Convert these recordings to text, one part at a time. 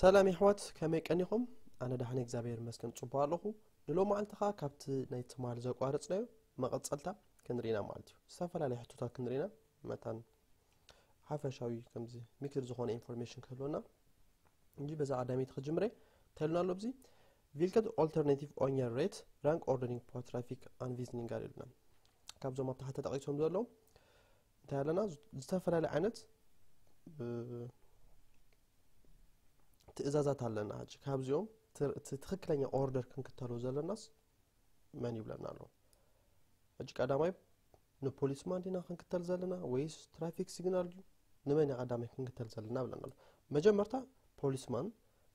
ሰላም የሕዋት፣ ከመይ ቀኒኹም? ኣነ ደሓን እግዚኣብሔር ይመስገን ጽቡቕ ኣለኹ። ንሎሚ መዓልቲ ኸኣ ካብቲ ናይ ትማል ዘቋረጽናዮ መቐጸልታ ክንርኢና ማለት እዩ። ዝተፈላለዩ ሕቶታት ክንርኢና መታን ሓፈሻዊ ከምዚ ሚክስድ ዝኾነ ኢንፎርሜሽን ክህልወና እንጂ በዛ ቀዳመይቲ ክጅምረ ተልና ኣሎ። ኣብዚ ቪልከት ኦልተርናቲቭ ኦንየር ሬት ራንክ ኦርደሪንግ ፖ ትራፊክ ኣንቪዝኒንጋር ኢሉና። ካብዞም ኣብ ታሕቲ ተጠቒሶም ዘለዉ እንታይ ኣለና? ዝተፈላለዩ ዓይነት ትእዛዛት ኣለና። ሕጂ ካብዚኦም እቲ ትኽክለኛ ኦርደር ክንክተሎ ዘለናስ መን ይብለና ኣሎ? ሕጂ ቀዳማይ ንፖሊስማን ዲና ክንክተል ዘለና ወይስ ትራፊክ ሲግናል ድዩ? ንመን እያ ቀዳማይ ክንክተል ዘለና ብለና ኣሎ። መጀመርታ ፖሊስማን፣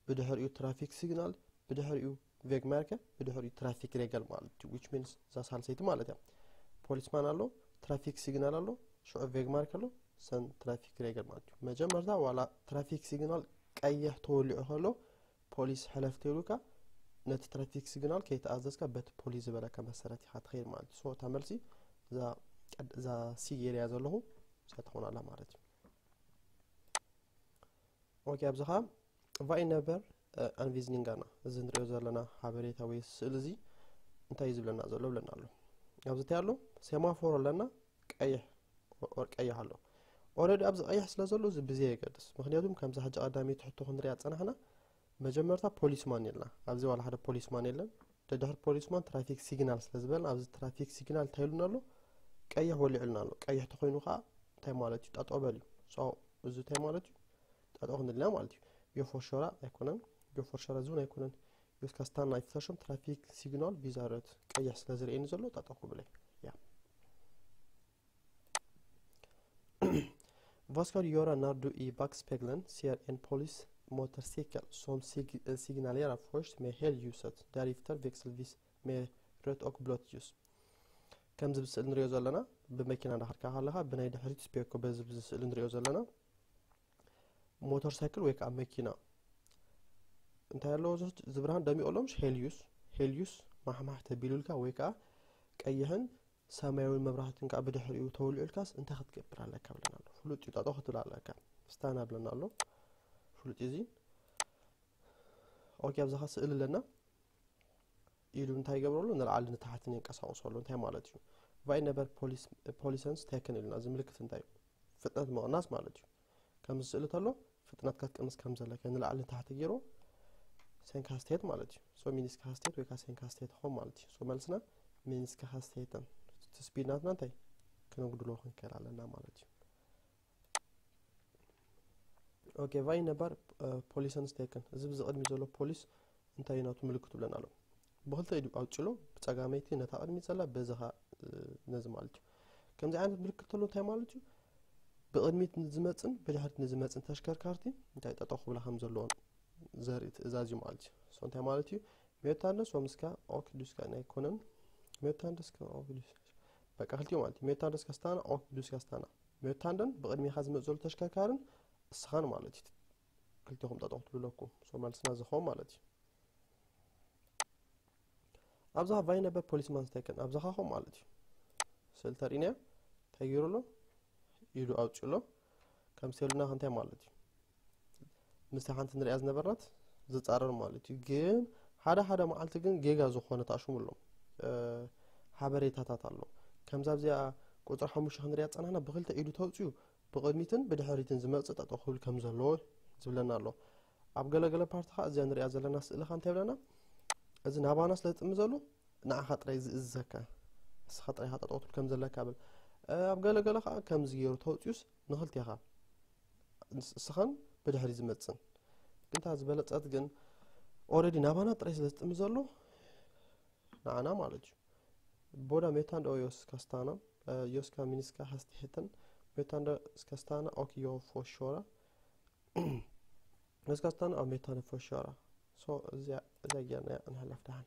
ብድሕሪኡ ትራፊክ ሲግናል፣ ብድሕሪኡ ቬግማርከ፣ ብድሕሪኡ ትራፊክ ሬገል ማለት እዩ። ዊች ሚንስ እዛ ሳልሰይቲ ማለት እያ። ፖሊስማን ኣሎ፣ ትራፊክ ሲግናል ኣሎ፣ ሽዑ ቬግማርክ ኣሎ፣ ሰን ትራፊክ ሬገል ማለት እዩ። መጀመርታ ዋላ ትራፊክ ሲግናል ቀይሕ ተወሊዑ ከሎ ፖሊስ ሕለፍ ተይሉካ ነቲ ትራፊክ ሲግናል ከይተኣዘዝካ በቲ ፖሊስ ዝበለካ መሰረት ኢኻ ትኸይድ ማለት እዩ። ሶ እታ መልሲ እዛ ሲ ገይረያ ዘለኹ እዛ ትኾን ኣላ ማለት እዩ። ኦኬ፣ ኣብዚ ኸዓ ቫይ ነበር ኣንቪዝኒንጋና እዚ ንሪኦ ዘለና ሓበሬታ ወይ ስእሊ እዚ እንታይ እዩ ዝብለና ዘሎ ብለና ኣሎ። ኣብዚ እንታይ ኣሎ? ሴማፎር ኣለና፣ ቀይሕ ኦር ቀይሕ ኣሎ። ኦረዲ ኣብዚ ቀይሕ ስለ ዘሎ እዚ ብዘይ የገድስ። ምክንያቱም ከምዚ ሕጂ ቀዳመይቲ ሕቶ ክንሪኣ ዝጸናሕና መጀመርታ ፖሊስማን የልና። ኣብዚ ዋላ ሓደ ፖሊስማን የለን። ደድሕሪ ፖሊስማን ትራፊክ ሲግናል ስለ ዝበልና ኣብዚ ትራፊክ ሲግናል እንታይ ኢሉና ኣሎ? ቀይሕ ወሊዑልና ኣሎ። ቀይሕ ተኾይኑ ከዓ እንታይ ማለት እዩ? ጠጠው በል እዩ። ሶ እዚ እንታይ ማለት እዩ? ጠጠው ክንድልና ማለት እዩ። ዮ ፎርሾራ ኣይኮነን። ዮ ፎርሾራ ዝውን ኣይኮነን። ዮስካ ስታና ይፍተሾም ትራፊክ ሲግናል ቪዛ ረት ቀይሕ ስለ ዝርእየኒ ዘሎ ጠጠው ክብለ ያ። Vaskar göra när du i backspegeln ser en polis motorcykel som sig- eh, signalerar först med helljuset, därefter växelvis med rött och blått ljus. ከምዚ ብስእሊ ንሪኦ ዘለና ብመኪና እንዳኸድካ ከለኻ ብናይ ድሕሪት ስፔኮ በዚ ብዚ ስእሊ ንሪኦ ዘለና ሞተር ሳይክል ወይ ከዓ መኪና እንታይ ኣለዎ? እዚ ብርሃን ደሚቑ ኣሎ ምሽ? ሄልዩስ ሄልዩስ ማሕማሕ ተቢሉልካ ወይ ከዓ ቀይሕን ሰማያዊን መብራህትን ከዓ ብድሕሪኡ ተወሊዑልካስ እንታይ ክትገብር ኣለካ ብለና ኣሎ። ፍሉጥ እዩ፣ ጠጠው ክትብል ኣለካ። ስታና ብለና ኣሎ። ፍሉጥ እዩ እዚ። ኦኬ፣ ኣብዚኻ ስእሊ ኣለና። ኢሉ እንታይ ይገብረሉ? ንላዕሊ ንታሕትን የንቀሳቕሰሉ። እንታይ ማለት እዩ? ቫይ ነበር ፖሊሰንስ ቴክን ኢሉና። እዚ ምልክት እንታይ እዩ? ፍጥነት ምቕናስ ማለት እዩ። ከምዚ ስእሊ ተሎ ፍጥነትካ ክትቅንስ ከም ዘለካ ንላዕሊ ንታሕቲ ገይሩ ሴንካ ስቴት ማለት እዩ። ሶ ሚኒስካ ስቴት ወይ ከዓ ሴንካ ስቴት ኾም ማለት እዩ። ሶ መልስና ሚኒስካ ስቴትን እቲ ስፒድ ናትና እንታይ ክነጉድሎ ክንክእል ኣለና ማለት እዩ። ኦኬ፣ ቫይ ነበር ፖሊሰንስ ቴክን፣ እዚ ብዚ ቅድሚ ዘሎ ፖሊስ እንታይ እዩ ናቱ ምልክቱ ብለና ኣሎ። ብክልተ ኢዱ ኣውጭሎ፣ ብጸጋመይቲ ነታ ቅድሚ ዘላ፣ በዚ ኸኣ ነዚ ማለት እዩ። ከምዚ ዓይነት ምልክት ተሎ እንታይ ማለት እዩ? ብቕድሚት ንዝመጽን ብድሕሪት ንዝመጽን ተሽከርካርቲ እንታይ ጠጠው ክብላ ከም ዘለዎን ዘርኢ ትእዛዝ እዩ ማለት እዩ። ሶ እንታይ ማለት እዩ? ሜታንደስ ወምስካ ኦክ ዱስካ ናይ ኮነን ሜታንደስ ከ ኦክ ዱስካ በቃ ክልቲኡ ማለት እዩ። ሜታንደስ ከስታና ኦክ ዱስካ ስታና ሜታንደን ብቕድሚኻ ዝመጽእ ዘሎ ተሽከርካርን እስኻን ማለት እዩ። ክልቲኹም ጠጠው ትብለኩም። ሶ መልስና ዝኸውን ማለት እዩ። ኣብዛ ቫይ ነበር ፖሊስማን ስቴክን ኣብዛ ኻኹም ማለት እዩ። ስእሊ ተርእይናዮ እንታይ ገይሩ ኣሎ? ኢዱ ኣውጭ ኣሎ። ከም ሴሉና እንታይ ማለት እዩ? ምስቲ ሓንቲ ንሪኣ ዝነበርናት ዝጻረር ማለት እዩ። ግን ሓደ ሓደ መዓልቲ ግን ጌጋ ዝኾነ ተኣሽሙ ኣሎ። ሓበሬታታት ኣሎ። ከምዛ ኣብዚኣ ቁፅሪ ሓሙሽተ ክንሪኣ ዝጸናሕና ብክልተ ኢዱ ተውፅኡ ብቕድሚትን ብድሕሪትን ዝመጽእ ጠጠው ክብል ከም ዘለዎ ዝብለና ኣሎ። ኣብ ገለገለ ፓርቲ ኸዓ እዚኣ ንሪኣ ዘለና ስእሊ ኸዓ እንታይ ይብለና? እዚ ናባና ስለ ዝጥምዘሉ ንዓኻ ጥራይ ዝእዝዘካ፣ ንስኻ ጥራይ ኢኻ ጠጠው ክትብል ከም ዘለካ ብል። ኣብ ገለገለ ኸዓ ከምዚ ገይሩ ተውፅኡስ ንኽልቴኻ ንስኻን ብድሕሪ ዝመጽን ግን እታ ዝበለጸት ግን ኦረዲ ናባና ጥራይ ስለ ዝጥምዘሉ ንዓና ማለት እዩ። Båda mötande och jag ska stanna. Eh, Jag ska minska hastigheten. Mötande ska stanna och jag får köra. Jag ska stanna och mötande får köra. Så እዚኣ እዚኣ ጌርና እያ ንሕለፍ ደሓን።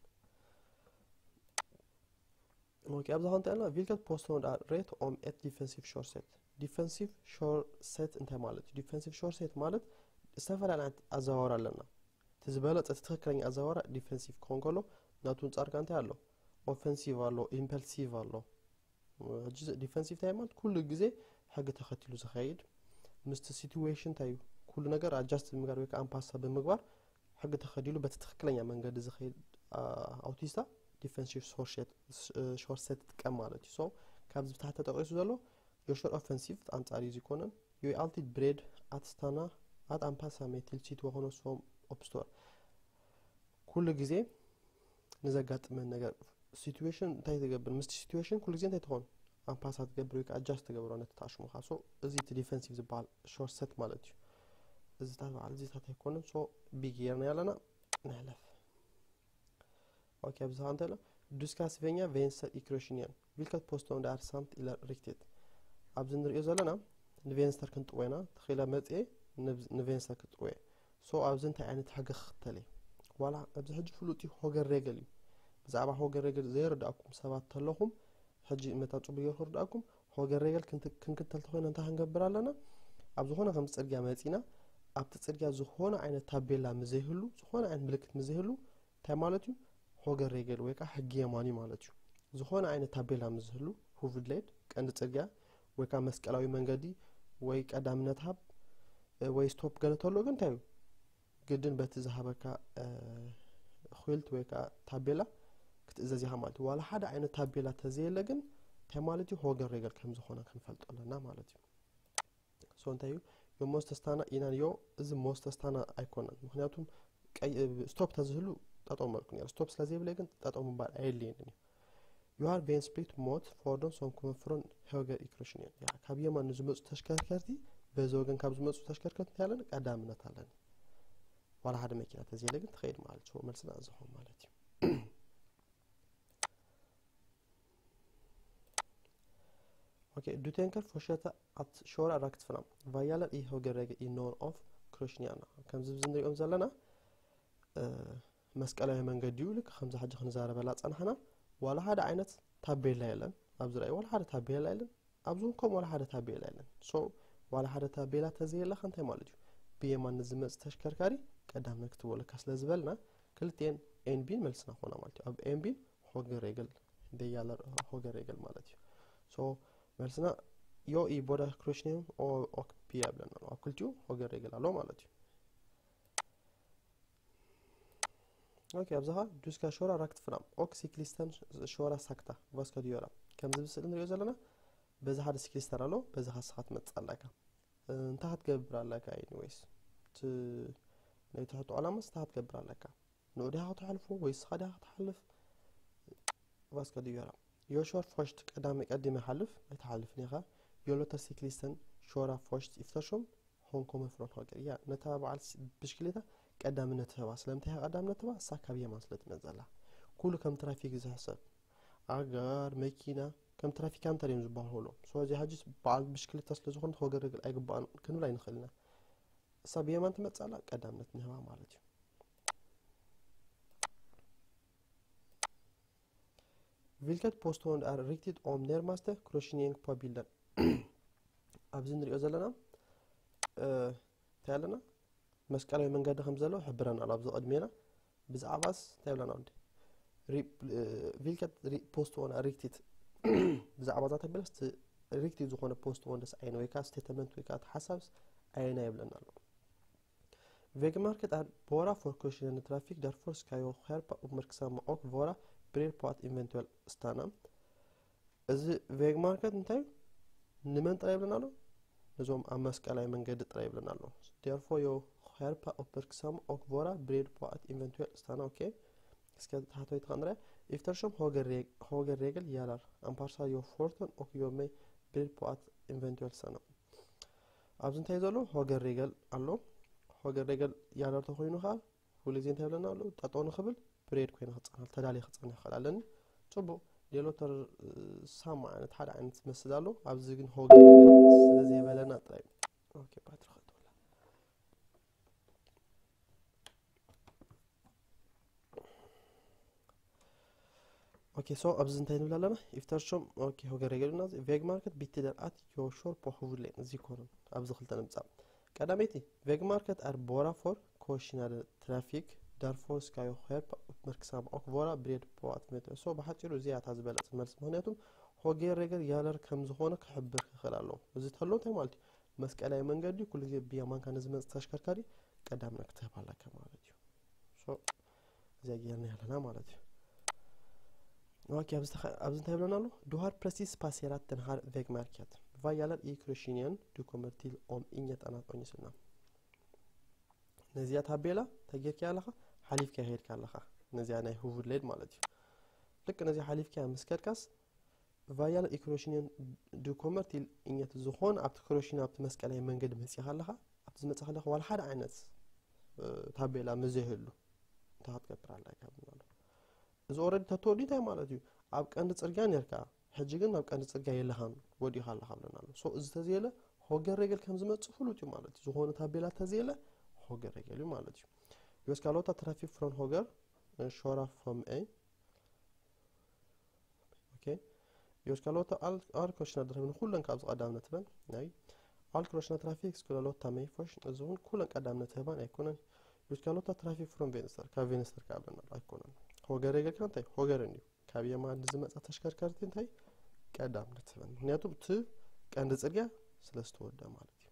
ኦኬ፣ ኣብዚ ኸንተ ያልና vilket påstående är rätt om ett defensivt körsätt? ዲፈንሲቭ ሾርሴት እንታይ ማለት እዩ? ዲፈንሲቭ ሾርሴት ማለት ዝተፈላለዩ ዓይነት ኣዘዋወራ ኣለና። እቲ ዝበለፀ እቲ ትኽክለኛ ኣዘዋወራ ዲፈንሲቭ ክኾን ከሎ ናቱ ኣንፃርካ እንታይ ኣሎ? ኦፈንሲቭ ኣሎ፣ ኢምፐልሲቭ ኣሎ። ሕጂ ዲፈንሲቭ እንታይ ማለት ኩሉ ግዜ ሕጊ ተኸቲሉ ዝኸይድ ምስቲ ሲትዌሽን እንታይ እዩ ኩሉ ኩሉ ነገር ኣጃስት ብምግባር ወይ ከዓ ኣንፓሳ ብምግባር ሕጊ ተኸዲሉ በቲ ትክክለኛ መንገዲ ዝኸይድ ኣውቲስታ ዲፈንሲቭ ሾርትሰት ይጥቀም ማለት እዩ። ሶ ካብዚ ብታሕቲ ተጠቂሱ ዘሎ ዮሾር ኦፈንሲቭ ኣንጻር እዩ ዝኮነን ዩ ኣልቲድ ብሬድ ኣትስታና ኣት ኣምፓሳ ሜቲል ሲቲ ወኮኖ ሶም ኦፕስቶር ኩሉ ግዜ ንዘጋጥመን ነገር ሲትዌሽን እንታይ ትገብር? ምስቲ ሲትዌሽን ኩሉ ግዜ እንታይ ትኾን? ኣምፓሳ ትገብር ወይ ከዓ ኣጃስት ትገብሮ ነቲ ተኣሽሙኻ። ሶ እዚ እቲ ዲፈንሲቭ ዝበሃል ሾርትሰት ማለት እዩ። እዚታት በዓል እዚታት ኣይኮነን። ሶ ቢ ጌርና ያለና ንሕለፍ። ኦኬ ኣብዚ ኸ እንታይ ኣሎ? ዱስካ ስቬኛ ቬንስተር ኢክሮሽንያን ቪልከት ፖስቶን ዳር ሳምት ኢለር ሪክቴት ኣብዚ ንሪኦ ዘለና ንቬንስተር ክንጥወና ተኺላ መፅኤ ንቬንስተር ክጥወየ ሶ ኣብዚ እንታይ ዓይነት ሕጊ ክኽተል እየ? ዋላ ኣብዚ ሕጂ ፍሉጥ እዩ ሆገር ሬገል እዩ። ብዛዕባ ሆገር ሬገል ዘይርዳእኩም ሰባት ተለኹም ሕጂ መታ ፅቡቅ ገይሩ ክርዳእኩም ሆገር ሬገል ክንክተል ተኮይና እንታይ ክንገብር ኣለና? ኣብ ዝኾነ ከም ፅርግያ መፂና ኣብቲ ፅርግያ ዝኾነ ዓይነት ታቤላ ምዘይህሉ ዝኾነ ዓይነት ምልክት ምዘይህሉ እንታይ ማለት እዩ? ሆገር ሬገል ወይ ከዓ ሕጊ የማኒ ማለት እዩ። ዝኾነ ዓይነት ታቤላ ምዝህሉ ሁቭድሌድ ቀንዲ ፅርግያ ወይ ከዓ መስቀላዊ መንገዲ ወይ ቀዳምነት ሃብ ወይ ስቶፕ ገለ ተሎ ግን እንታይ እዩ ግድን በቲ ዝሃበካ ኹልት ወይ ከዓ ታቤላ ክትእዘዝ ኢኻ ማለት እዩ። ዋላ ሓደ ዓይነት ታቤላ ተዘየለ ግን እንታይ ማለት እዩ? ሆገር ሬገል ከም ዝኾነ ክንፈልጦ ኣለና ማለት እዩ። ሶ እንታይ እዩ ዮ ሞስተስታና ኢናን ዮ እዚ ሞስተስታና ኣይኮነን። ምክንያቱም ስቶፕ ተዝህሉ ጠጠው መልኩ ነሩ። ስቶፕ ስለዘይብለ ግን ጠጠው ምባል ኣየድልየንን እዩ። ዩ ሃር ቬን ስፕሊት ሞት ፎርዶን ሶም ኮመ ፍሮን ሆገር ኢክሮሽን እዮም። ካብ የማን ንዝመፁ ተሽከርከርቲ በዚ ወገን ካብ ዝመፁ ተሽከርከርቲ እንታይ ኣለኒ ቀዳምነት ኣለኒ። ዋላ ሓደ መኪና ተዘየለ ግን ትኸይድ ማለት እዩ። መልስና እዚ ኾን ማለት እዩ። ኦኬ ዱቴንከር ፎሸተ ኣት ሾራ ራክትፍና ቫያለር ኢ ሆገሬገ ኢ ኖን ኦፍ ክሮሽኒያና ከምዚ ብዚ ንሪኦም ዘለና መስቀላዊ መንገዲ እዩ። ልክ ከምዚ ሕጂ ክንዛረበላ ጸናሕና ዋላ ሓደ ዓይነት ታቤላ የለን ኣብዚ ራእይ ዋላ ሓደ ታቤላ የለን ኣብዚ እውን ከምኡ ዋላ ሓደ ታቤላ የለን። ሶ ዋላ ሓደ ታቤላ ተዘየለካ እንታይ ማለት እዩ? ብየማን ንዝመጽእ ተሽከርካሪ ቀዳምነት ክትበለካ ስለ ዝበልና ክልቲኤን ኤን ቢን መልስና ኮና ማለት እዩ። ኣብ ኤን ቢን ሆገሬገል ደያለር ሆገሬገል ማለት እዩ። ሶ መልስና ዮ ኢ ቦዳ ክሮሽኒየም ኦክፒ ያብለና ኣሎ ኣብ ክልቲኡ ሆገሬገል ኣሎ ማለት እዩ። ኦኬ ኣብዛኻ ዱስካ ሾራ ራክት ፍራም ኦክ ሲክሊስተን ሾራ ሳክታ ቫስካ ዲዮራ ከምዚ ብስእሊ ንሪኦ ዘለና በዚ ሓደ ሲክሊስተር ኣሎ በዚ ካስኻ ትመፅእ ኣለካ። እንታይ ክትገብር ኣለካ? ኤኒወይስ ናይ ትሕቱ ዕላማስ እንታይ ክትገብር ኣለካ? ንኡ ዲኻ ክትሓልፎ ወይ ስኻ ዲኻ ክትሓልፍ? ቫስካ ዲዮራ ዮሾር ፎሽት ቀዳሚ ቀዲመ ሓልፍ ኣይትሓልፍን ኢኻ። ዮሎተር ሲክሊስተን ሾራ ፎሽት ኢፍተሾም ሆንኮመ ፍሮን ሆገር እያ ነታ በዓል ብሽክሌታ ቀዳምነት ህባ። ስለምንታይ ኢኻ ቀዳምነት ህባ? እሳ ካብ የማን ስለ ትመጽእ ዘላ። ኩሉ ከም ትራፊክ እዩ ዝሕሰብ። ኣጋር፣ መኪና ከም ትራፊካንት እዮም ዝበሃሉ። ስለዚ ሕጂ በዓል ብሽክሌታ ስለ ዝኾነት ሆገር ርግል ኣይግባእን ክንብል ኣይንኽእል ኢና። እሳ ብየማን ትመጽእ ኣላ ቀዳምነት ንህባ ማለት እዩ። Vilket påstående är riktigt om närmaste korsningen på bilden? ኣብዚ ንሪኦ ዘለና እንታይ ኣለና? መስቀላዊ መንገዲ ከም ዘሎ ሕብረና ኣሎ ኣብዚ ቅድሜና። ብዛዕባስ እንታይ ብለና ወዲ? Vilket påstående är riktigt? ብዛዕባ እዛ ተቢለስ ሪክቲት ዝኾነ ፖስትፖንደስ ኣይነ ወይ ከዓ ስቴትመንት ወይ ከዓ ሓሳብስ ኣይና ይብለና ኣሎ። Vägmärket är bara för korsningar trafik, därför ska jag skärpa uppmärksamma och vara beredd på att eventuellt stanna. እዚ ቬግማርከት እንታይ እዩ? ንመን ጥራይ ይብለና ኣሎ? ነዞም ኣብ መስቀላዊ መንገዲ ጥራይ ይብለና ኣሎ። Därför jag skärpa uppmärksamma och vara beredd på att eventuellt stanna. ኦኬ እስከ ታሕተወይቲ ከንርያ ኢፍተርሾም ሆገር ሬግል ያላር ኣምፓርሳ ዮ ፎርቶን ኦክ ዮ መይ ብሬድ ፖኣት ኢንቨንትዌል ሰና ኣብዚ እንታይ ዘሎ ሆገር ሬገል ኣሎ። ሆገር ሬገል ያላር ተኮይኑ ከዓ ኩሉ ግዜ እንታይ ብለና ኣሎ? ጠጠው ንክብል ብሬድ ኮይነ ክፀንሕ ተዳልየ ክፀንሕ ይኽእል ኣለኒ። ፅቡቅ ሌሎተር ሳማ ዓይነት ሓደ ዓይነት መስል ኣሎ። ኣብዚ ግን ሆገር ሬገል ስለዘይበለና ጥራይ ኦኬ ባትሪ ከጥወላ ኦኬ ሶ ኣብዚ እንታይ ንብል ኣለና ኢፍተርሾም ኦኬ ሆገር ሬገልና ቬግ ማርኬት ቢትደር ኣት ዮሾር ፖሁቭሌን እዚ ኮኑ ኣብዚ ክልተ ንምጻእ ቀዳመይቲ ቬግ ማርኬት ኣር ቦራ ፎር ኮሽናደ ትራፊክ ዳርፎር ስካዮ ሄርፕ መርክሳም ኦክ ቮራ ብሬድ ፖዋት ሜትሮ ሶ ብሓፂሩ እዚኣ እታ ዝበለፅ መልሲ ምክንያቱም ሆጌር ሬገር ያለር ከም ዝኾነ ክሕብር ክኽእል ኣለዎ እዚ ተሎ እንታይ ማለት እዩ መስቀላዊ መንገዲ ኩሉ ግዜ ብየማንካ ንዝመጽእ ተሽከርካሪ ቀዳምነት ክትህብ ኣለካ ማለት እዩ። So እዚኣ ጌርና ኣለና ማለት እዩ። ኦኬ፣ ኣብዚ እንታይ ብለና ኣሎ? Du har precis passerat den här vägmärket. Vad gäller i kryssningen du kommer till om inget annat ordnas. ነዚኣ ታቤላ እንታይ ጌርካ ኣለኻ? ሓሊፍካ ሄድካ ኣለኻ። ነዚኣ ናይ ሁቭድሌድ ማለት እዩ። ልክ ነዚኣ ሓሊፍካ ምስ ከድካስ ቫያል ኢክሮሽንን ድኮመር ቲል እኘት ዝኾን ኣብቲ ክሮሽን ኣብቲ መስቀላዊ መንገዲ መፂኻ ኣለኻ። ኣብቲ ዝመፅኻ ኣለኻ ዋላ ሓደ ዓይነት ታቤላ መዘይህሉ እንታይ ክትገብር ኣለካ ኣሎ። እዚ ኦረዲ ተተወዲ እንታይ ማለት እዩ? ኣብ ቀንዲ ፅርግያ ነርካ፣ ሕጂ ግን ኣብ ቀንዲ ፅርግያ የለኻን፣ ወዲኻ ኣለኻ ብለና ኣሎ። So እዚ ተዘየለ ሆገር ሬገል ከም ዝመፅእ ፍሉጥ እዩ ማለት እዩ። ዝኾነ ታቤላ ተዘየለ ሆገር ሬገል እዩ ማለት እዩ። ዮስካሎታ ትራፊክ ፍሮን ሆገር ሾራ ፎም ኤ ኦኬ። ዮስካሎታ ኣል ክሮሽና ድረብን ኩለን ካብዚ ቀዳምነት በን ናይ ኣል ክሮሽና ትራፊክ ስኩላሎታ መይ ፎሽ እዚ እውን ኩለን ቀዳምነት ህባን ኣይኮነን። ዮስካሎታ ትራፊክ ፍሮም ቬንስተር ካብ ቬንስተር ካብለና ኣይኮነን። ሆገር ሬገል ከ እንታይ ሆገርን እዩ። ካብ የማን ንዝመፃ ተሽከርከርቲ እንታይ ቀዳምነት ህበን፣ ምክንያቱ እቲ ቀንዲ ፅርግያ ስለ ዝተወደ ማለት እዩ።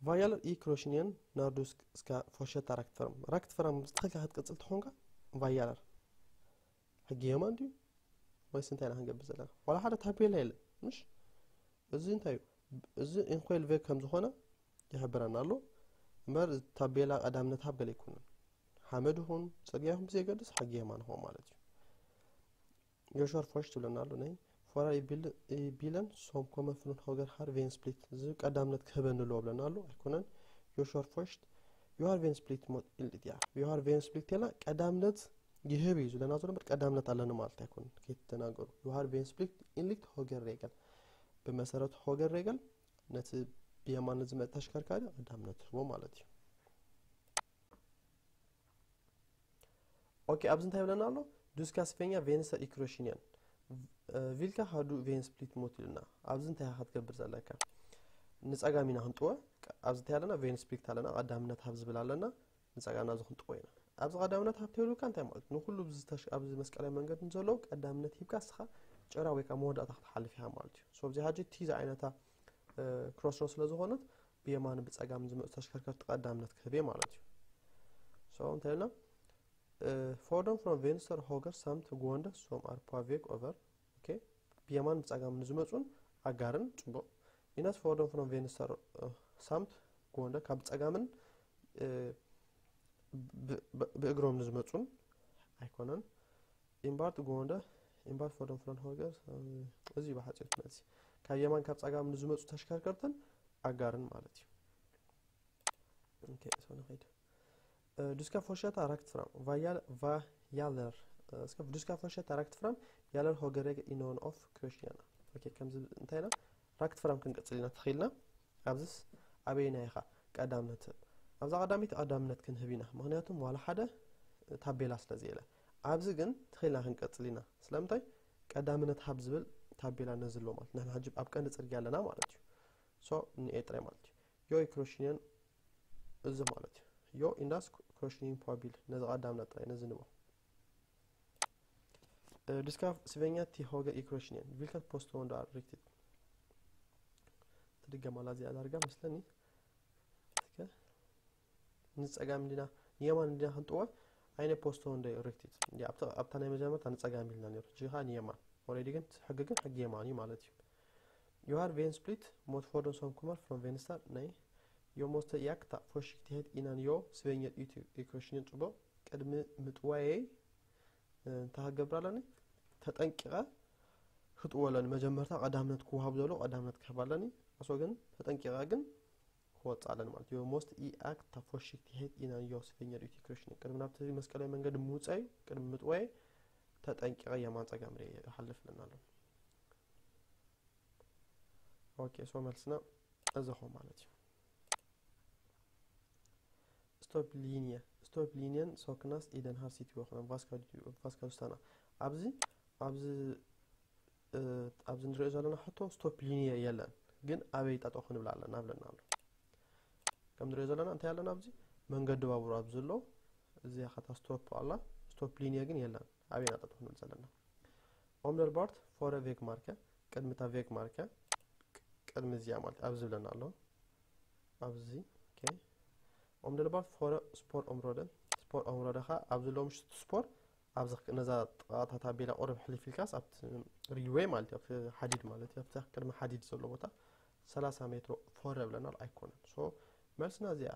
ቫያል ኢ ክሮሽንየን ናርዱስ እስካ ፎሸታ ራክትፈርም ራክትፈርም ብዝተኸልካ ክትቅፅል ትኾንካ ቫያለር ሕጊ የማን ድዩ ወይስ እንታይ ኢና ክንገብር ዘለና? ዋላ ሓደ ታፔላ የለን። ምሽ እዚ እንታይ እዩ? እዚ ኢንኮይል ቬግ ከም ዝኾነ ይሕብረና ኣሎ። እምበር ታቤላ ቀዳምነት ሃብ ገለ ኣይኮነን። ሓመድ ይኹን ፅርግያ ይኹን ብዘየገድስ ሕጊ የማን ይኾን ማለት እዩ። ዮሾር ፎሽ ትብለና ኣሎ ናይ ፎራር ቢለን ሶም ኮመ ፍሉን ሆገር ሃር ቬን ስፕሊት እዚ ቀዳምነት ክህበኒ ኣለዎ ብለና ኣሎ። ኣይኮነን ዮሾር ፎሽት ዮሃር ቬን ስፕሊት ሞት ኢልድያ ዮሃር ቬን ስፕሊት ቴላ ቀዳምነት ይህብ እዩ ዝለና ዘሎ እምበር ቀዳምነት ኣለኒ ማለት ኣይኮነን። ከይትደናገሩ ዮሃር ቬን ስፕሊት ኢንሊክት ሆገር ሬገል ብመሰረት ሆገር ሬገል ነቲ ብየማን ዝመጽእ ተሽከርካሪ ቀዳምነት ህቦ ማለት እዩ። ኦኬ ኣብዚ እንታይ ይብለና ኣሎ? ዱስካ ስፌኛ ቬንስተር ኢክሮሽንያን ቪልካ ሃዱ ቬን ስፕሊት ሞት ኢልና ኣብዚ እንታይ ኢኻ ክትገብር ዘለካ? ንጸጋም ኢና ክንጥወ ኣብዚ እንታይ ኣለና ቬን ስፕሊት ኣለና ቀዳምነት ሃብ ዝብል ኣለና። ንጸጋምና እዚ ክንጥወ ኢና። ኣብዚ ቀዳምነት ሃብ ተይሉካ እንታይ ማለት ንኩሉ ኣብዚ መስቀላዊ መንገዲ ንዘለዉ ቀዳምነት ሂብካ እስኻ ጭራ ወይ ከዓ መወዳእታ ክትሓልፍ ኢኻ ማለት እዩ። So ኣብዚ ሓጂ እቲ ዝዓይነታ ክሮስሮ ስለ ዝኾነት ብየማን ብጸጋም ዝመፁ ተሽከርከርቲ ቀዳምነት ክህብ እየ ማለት እዩ። So እንታይ ኢልና ፎርዶም ፍሮም ቬንስተር ሆገር ሳምት ጎንደ ሶም ኣርፓ ቬግ ኦቨር ኦኬ ብየማን ብጸጋም ንዝመፁን ኣጋርን ጽቡቕ ኢናስ ፎርዶም ፍሮም ቬንስተር ሳምት ጎንደ ካብ ጸጋምን ብእግሮም ንዝመፁን ኣይኮነን። ኢምባርት ጎንደ ኢምባርት ፎርዶም ፍሮም ሆገር እዚ ብሓፂር መልሲ ካብ የማን ካብ ጸጋም ንዝመፁ ተሽከርከርትን ኣጋርን ማለት እዩ። ንኸይድ ዱስካ ፎርሸታ ራክት ፍራም ቫያለር እስከ ዱስካ ፎርሸታ ራክት ፍራም ያለር ሆገሬገ ኢኖን ኦፍ ክሮሽያና ከምዚ እንታይ ኢና ራክት ፍራም ክንቅፅል ኢና ተኽኢልና። ኣብዚስ ኣበየና ኢኻ ቀዳምነት ትህብ? ኣብዛ ቀዳሚት ቀዳምነት ክንህብ ኢና፣ ምክንያቱም ዋላ ሓደ ታቤላ ስለ ዘየለ። ኣብዚ ግን ተኽኢልና ክንቀፅል ኢና። ስለምንታይ ቀዳምነት ሃብ ዝብል ታቤላ ነዝሎ ማለት ንሕና ሕጂ ኣብ ቀንዲ ፅርግያ ኣለና ማለት እዩ። So ንኤ ጥራይ ማለት እዩ። ዮ ኢክሮሽኒየን እዚ ማለት እዩ። ዮ ኢንዳስ ክሮሽኒን ፖቢል ነዚ ቀዳምና ጥራይ ነዚ ንቦ ድስካ ስበኛ ቲ ሆገ ኢክሮሽኒየን ቪልከት ፖስቶ ወንዶ ኣሪክቲት ትድገማላ እዚኣ ዳርጋ መስለኒ። ንፀጋም እንዲና ንየማን እንዲና ክንጥወ ኣይነ ፖስቶ ወንዶ ሪክቲት ኣብታ ናይ መጀመርታ ንፀጋም ኢልና ነሩ ጂኻ ንየማን ኦሬዲ ግን ሕጊ ግን ሕጊ የማን እዩ ማለት እዩ። ዮሃር ቬን ስፕሊት ሞት ፎርዶን ሶም ኩመር ፍሮም ቬንስታር ናይ ዮሞስተ ያክታ ፎሽክቲሄት ኢናን ዮ ስቬኘር ኢኩሽንን ጽቡቕ ቅድሚ ምጥዋየይ እንታይ ክገብር ኣለኒ ተጠንቂቐ ክትወለኒ መጀመርታ ቀዳምነት ክወሃብ ዘሎ ቀዳምነት ክህብ ኣለኒ ኣሶ ግን ተጠንቂቐ ግን ክወፅእ ኣለኒ ማለት እዩ። ሞስት ኢ ኣክት ፎሽክቲሄት ኢናን ዮ ስቬኘር ኢኩሽንን ቅድሚ ናብቲ መስቀላዊ መንገዲ ምውፀይ ቅድሚ ምጥዋየይ ተጠንቂቐ የማን ፀጋም ርየ ይሓልፍ ኣለና ኣሎ። ኦኬ ሶ መልስና እዚ ኾ ማለት እዩ። ስቶፕ ሊኒየ ስቶፕ ሊኒየን ሶክናስ ኢደን ሃር ሲቲ ወኽነን ቫስካዱስታና ኣብዚ ኣብዚ ኣብዚ ንሪኦ ዘለና ሕቶ ስቶፕ ሊኒየ የለን ግን ኣበይ ጠጠው ክንብል ኣለና ብለና ኣሎ። ከም ንሪኦ ዘለና እንታይ ኣለና ኣብዚ መንገዲ ባቡር ኣብዚ ዘሎ እዚኣ ኸታ ስቶፕ ኣላ። ስቶፕ ሊኒየ ግን የለን ኣበይና ጠጠው ክንብል ዘለና ኦምደርባርት ፎረ ቬግ ማርከ ቅድሚ እታ ቬግ ማርከ ቅድሚ እዚኣ ማለት ኣብዚ ዝብለና ኣሎ። ኣብዚ okay። Om det var for spor områden spor område ኻ ኣብዚ ሎ ምሽቱ ስፖር ኣብዚ ነዛ ጥቓታ ታቤላ ቁርብ ሕልፍ ኢልካስ ኣብቲ ሪልዌይ ማለት እዩ ኣብቲ ሓዲድ ማለት እዩ ኣብቲ ቅድሚ ሓዲድ ዘሎ ቦታ ሰላሳ ሜትሮ ፎረ ብለናል ኣይኮነን። So መልስና እዚኣ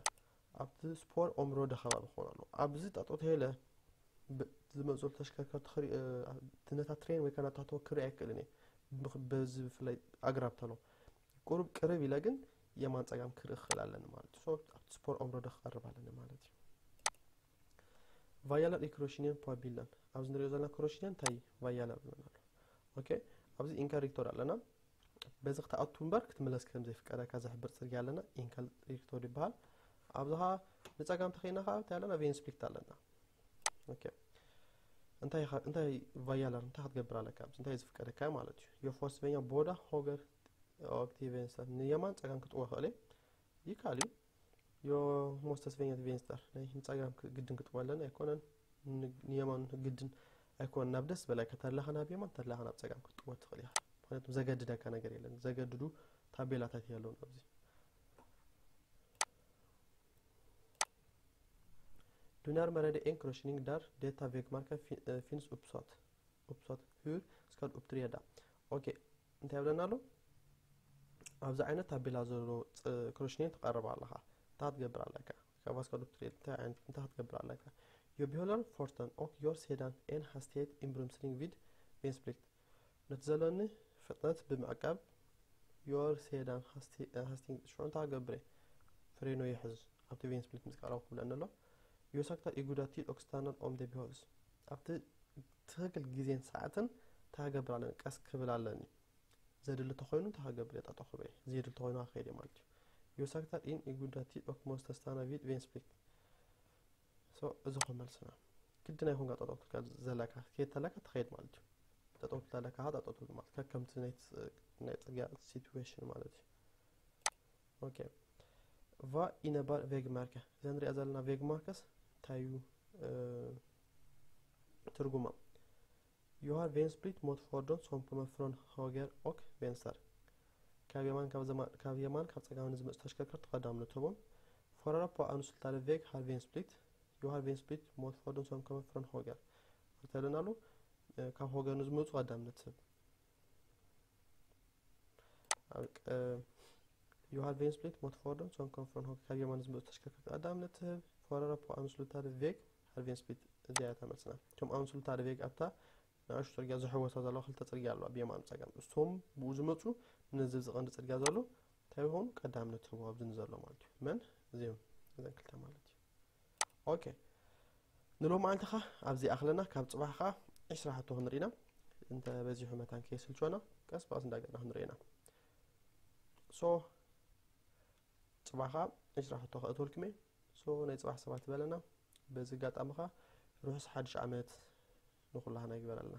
ኣብቲ ስፖር ኦምሮደ ከባቢ ክኾን ኣለዎ። ኣብዚ ጠጦ ተሄለ ዝመፁ ተሽከርከርቲ ነታ ትሬን ወይ ከናታተወ ክርኢ ኣይክእልን እየ። በዚ ብፍላይ ኣግራብ ተሎ ቁሩብ ቅርብ ኢለ ግን የማን ፀጋም ክርኢ ክኽእል ኣለኒ ማለት እዩ። ኣብቲ ስፖር ኦምሮደ ክቐርብ ኣለኒ ማለት እዩ። ቫያለር ኢክሮሽኒየን ፖቢለን ኣብዚ ንሪኦ ዘለና ክሮሽኒየን እንታይ ቫያለር ብለና ኣሎ። ኦኬ ኣብዚ ኢንካ ሪክቶር ኣለና። በዚ ክትኣቱ እምበር ክትምለስ ከም ዘይፍቀደካ ዝሕብር ፅርግያ ኣለና። ኢንካ ሪክቶር ይበሃል። ኣብዚ ኸዓ ንፀጋም ተኸይና ከዓ እንታይ ኣለና ቬንስፕሊክት ኣለና። ኦኬ እንታይ ኻ- እንታይ ቫያለር እንታይ ክትገብር ኣለካ ኣብዚ እንታይ ዝፍቀደካ ማለት እዩ። የፎስበኛ ቦዳ ሆገር ኦክቲ ቬንስተር ንየማን ፀጋም ክትወ ክእለ ይካል እዩ። ዮ ሞስተስበኛ ቬንስተር ናይ ንፀጋም ግድን ክትወ ኣለና ኣይኮነን። ንየማን ግድን ኣይኮነን ናብ ደስ በላካ ተላኻ ናብ የማን ተላኻ ናብ ፀጋም ክትጥወ ትኽእል ኢኻ። ምክንያቱም ዘገድደካ ነገር የለን። ዘገድዱ ታቤላታት የለውን ኣብዚ። ዱናር መረደ ኤን ክሮሽኒንግ ዳር ዴታ ቬግማርከ ፊንስ ኡፕሶት ኡፕሶት ሁር ስካድ ኡፕትሪየዳ። ኦኬ እንታይ ብለና ኣሎ? ኣብዚ ዓይነት ታቤላ ዘሎ ክሮሽኒን ትቐርብ ኣለኻ። እንታይ ክትገብር ኣለካ? ካብ ስካድ ኡፕትሪየዳ እንታይ ዓይነት እንታይ ክትገብር ኣለካ? ዮ ቢሆለር ፎርተን ኦክ ዮር ሴዳን ኤን ሃስቴት ኢምብሩምስሊንግ ቪድ ቬንስፕሊክት ነቲ ዘለኒ ፍጥነት ብምዕቃብ ዮር ሴዳን ሃስቲንግ ሽዑ እንታይ ክገብር እየ? ፍሬኖ ይሕዝ ኣብቲ ቬንስፕሊት ምስ ቀረብኩ ብለኒ ኣሎ። ዮሳክታ ኢጉዳቲ ኦክስታናል ኦም ደ ቢሆልስ ኣብቲ ትኽክል ግዜን ሰዓትን እንታይ ክገብር ኣለኒ? ቀስ ክብል ኣለኒ። ዘድሊ ተኾይኑ እንታይ ክገብር እየ? ጠጠኹበ እየ። ዘየድሊ ተኾይኑ ክኸይድ እየ ማለት እዩ። ዮሳክታ ኢን ኢጉዳቲ ኦክሞስተስታና ቪድ ቬንስፕሊት So እዚ ኹ መልስና ግድን ኣይኮንካ ጠጠው ክትብል ዘለካ ከየድ ተለካ ትኸይድ ማለት እዩ። ጠጠው ትብል ኣለካ ኸዓ ጠጠው ትብል ማለት ከከምቲ ናይ ፅ- ናይ ፅርግያ ሲትዌሽን ማለት እዩ። ኦኬ ቫ ኢነባር ቬግ ማርከ እዛ ንሪኣ ዘለና ቬግ ማርከስ እንታይ እዩ እ፣ ትርጉማ? ዮሃር ቬንስፕሊት ሞት ፎርዶን ሶምኮመ ፍሮን ሆገር ኦክ ቬንስተር ካብ የማን ካብ ዘማ- ካብ የማን ካብ ፀጋም ንዝመፁ ተሽከርከርቲ ቀዳምነት ህቦም። ፎረራ ፖ ኣንሱልታደ ቬግ ሃር ቬንስፕሊት ዮሃር ቬንስፕሊት ሞት ፎርዶን ሶምኮመ ፍሮን ሆገር ተብለና ኣሎ። እ፣ ካብ ሆገር ንዝመፁ ቀዳምነት ህብ። ኣብ ቀ- ዮሃር ቬንስፕሊት ሞት ፎርዶን ሶምኮመ ፍሮን ሆገር ካብ የማን ንዝመፁ ተሽከርከርቲ ቀዳምነት ህብ። ፎረራ ፖ ኣንሱልታደ ቬግ ሃር ቬንስፕሊት እዚኣ እያ ተመልስና። እቶም ኣንሱልታደ ቬግ ኣብታ ንኣሽቱ ፅርግያ ዝሕወሳ ዘለዋ ክልተ ፅርግያ ኣለዋ ብየማን ፀጋም እሶም ብኡ ዝመፁ ነዚ ዝቐንዲ ፅርግያ ዘሎ እንታይ ይኾኑ ቀዳምነት ህቦ ኣብዚ ንዘሎ ማለት እዩ። መን እዚኦም እዘን ክልተ ማለት እዩ። ኦኬ ንሎሚ መዓልቲ ኸ ኣብዚ ኣኽለና ካብ ፅባሕ ኸ ዕስራ ሕቶ ክንርኢና እንተ በዚሑ መታን ከየስልችወና ቀስ ብቐስ እንዳገና ክንርኢና። ሶ ፅባሕ ኸ ዕስራ ሕቶ ከእትወልኩም እየ። ሶ ናይ ፅባሕ ሰባት በለና። በዚ ኣጋጣሚ ኸ ርሑስ ሓድሽ ዓመት ንኹላህና ይግበረልና።